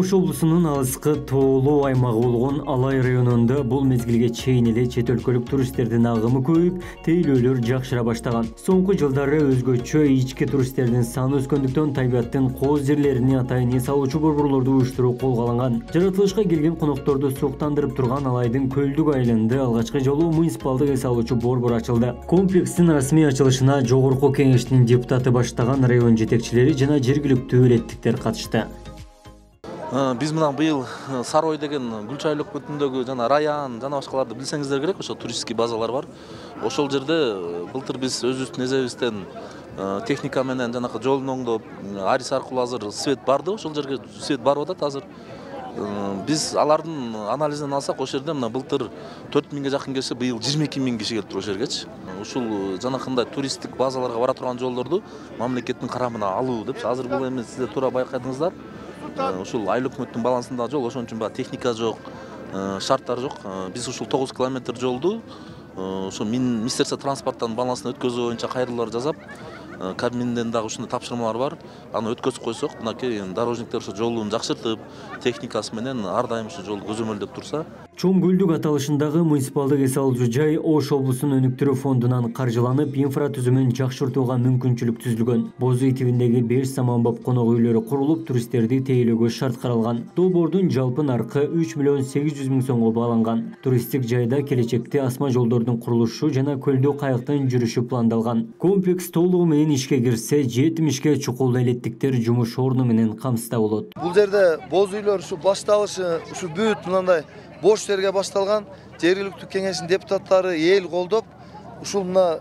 Ош облусунун алыскы тоолуу аймагы болгон Алай районунда бул мезгилге чейин эле чет өлкөлүк туристтердин агымы көбөйүп, тейлөөлөр жакшыра баштаган. Соңку жылдары өзгөчө ички туристтердин саны өскөндүктөн табиаттын кооз жерлерине атайын эс алуучу борборлорду уюштуруу колго алынган. Жаратылышка келген конокторду суктандырып турган Алайдын Көлдүк айылында алгачкы жолу муниципалдык эс алуучу борбор ачылды. Комплекстин расмий ачылышына жогорку кеңештин депутаты баштаган район жетекчилери жана жергиликтүү элеттиктер катышты. Биз мына быйыл Сарой деген Гүл Чайлоо өкмөтүндөгү жана Раян жана башкаларды билсеңиздер керек, ошо туристский базалар бар. Ошол жерде былтыр биз өзүбүздүн эзебизден техника менен жанакы жолун оңдоп, Арис аркылуу азыр свет барды, ошол жерге свет барып атат азыр. Биз алардын анализин алсак, ошол жерде мына былтыр 4000ге жакын келсе, быйыл 22000 киши келиптир ошол жергечи. Ушул жанакындай туристтик базаларга бара турган жолдорду мамлекеттин карамына алуу деп, азыр бул эми сиздер туура байкадыңыздар. Ушул айыл өкмөттүн балансындагы жол, ошон үчүн баягы техника жок, шарттар жок. Биз ушул 9 километр жолду ошо Министерство транспорттун балансына өткөзүү боюнча кайрылуулар жасап, Кабминден дагы ушундай тапшырмалар бар. Аны өткөзүп койсок, мынакей дорожниктер ошо жолун жакшыртып, техникасы менен ар дайым ушу жолду көзөмөлдөп турса. Чоң Көлдүк аталышындагы муниципалдык эс алуучу жай Ош облусунун өнүктүрүү фондунан каржыланып, инфра түзүмүн жакшыртууга мүмкүнчүлүк түзүлгөн. Боз үй тибиндеги 5 саманбап конок үйлөрү курулуп, туристтерди тейлөөгө шарт каралган. Долбоордун жалпы наркы 3 миллион 800 миң сомго бааланган. Туристтик жайда келечекте асма жолдордун курулушу жана көлдө кайыктын жүрүшү пландалган. Комплекс толугу менен ишке кирсе, 70 чукул элеттиктер жумуш орну менен камсызда болот. Бул жерде боз үйлөр ушу башталышы, ушу бүт мындай бош жерге башталган. Жергиликтүү кеңештин депутаттары эл колдоп, ушул мына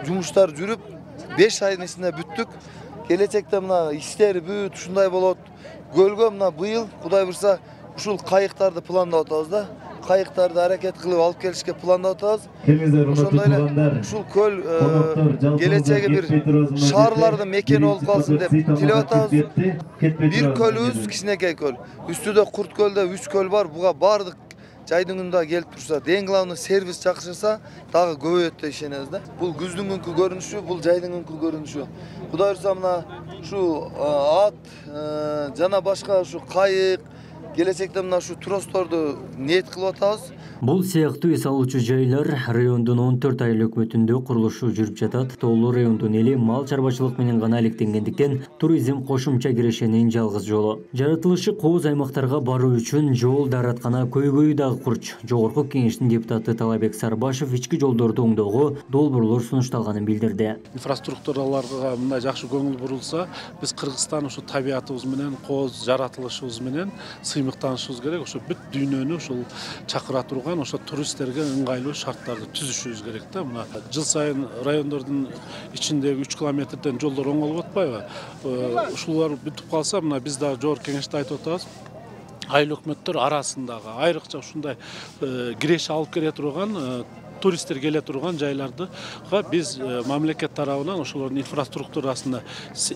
жумуштар жүрүп, 5 айдын ичинде бүттүк. Келечекте мына иштери бүт ушундай болот. Көлгө мына быйыл Кудай буйрса ушул кайыктарды пландап атабыз да. Кайыктарды аракет кылып алып келишке пландап атабыз. Ошондой эле ушул көл келечеги бир шаарлардын мекени болуп калсын деп тилеп атабыз. Бир көлүбүз кичинекей көл. Үстүдө Курт көлдө 3 көл бар. Буга бардык жайдын күндө келип турса, эң главный сервис жакшырса, дагы көбөйөт деп ишенебиз да. Бул күздүн күнкү көрүнүшү, бул жайдын күнкү көрүнүшү. Кудай буйрса мына ушу ат жана башка ушу кайык келечекте мына ушу тросторду ниет кылып атабыз. Бул сыяктуу эс алуучу жайлар райондун 14 айыл өкмөтүндө курулушу жүрүп жатат. Тоолуу райондун эли мал чарбачылык менен гана алектенгендиктен туризм кошумча кирешенин жалгыз жолу. Жаратылышы кооз аймактарга баруу үчүн жол даараткана көйгөйү дагы курч. Жогорку кеңештин депутаты Талабек Сарбашев ички жолдорду оңдоого долбоорлор сунушталганын билдирди. Инфраструктураларга мындай жакшы көңүл бурулса, биз Кыргызстан ушу табиятыбыз менен, кооз жаратылышыбыз менен сыймыктанышыбыз керек. Ошо бүт дүйнөнү ушул чакыра турган ошо туристтерге ыңгайлуу шарттарды түзүшүбүз керек да. Мына жыл сайын райондордун ичиндеги 3 километрден жолдор оңолуп атпайбы? Ушулар бүтүп калса, мына биз дагы жогорку кеңеште айтып атабыз. Айыл өкмөттөр арасындагы айрыкча ушундай киреше алып келе турган туристтер келе турган жайларды биз мамлекет тарабынан ошолордун инфраструктурасына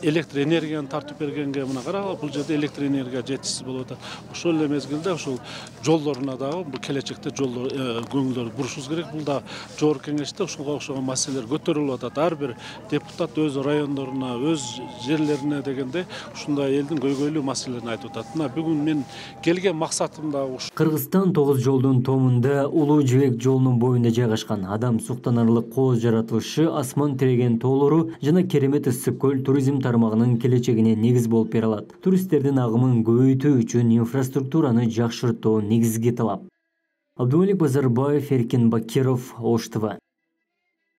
электр энергияны тартып бергенге мына карагыла, бул жерде электр энергия жетишсиз болуп атат. Ошол эле мезгилде ушул жолдоруна дагы бул келечекте жолдор көңүлдөрдү бурушубуз керек. Бул да жогорку кеңеште ушуга окшогон маселелер көтөрүлүп атат. Ар бир депутат өз райондоруна, өз жерлерине дегенде ушундай элдин көйгөйлүү маселелерин айтып атат. Мына бүгүн мен келген максатым да ушу. Кыргызстан 9 жолдун томунда Улуу Жибек жолунун боюнда адам суктанарлык кооз жаратылышы, асман тиреген тоолору жана керемет ысык көл туризм тармагынын келечегине негиз болуп бере алат. Туристтердин агымын көбөйтүү үчүн инфраструктураны жакшыртуу негизги талап. Абдумалик Базарбаев, Эркин Бакиров, Ош ТВ.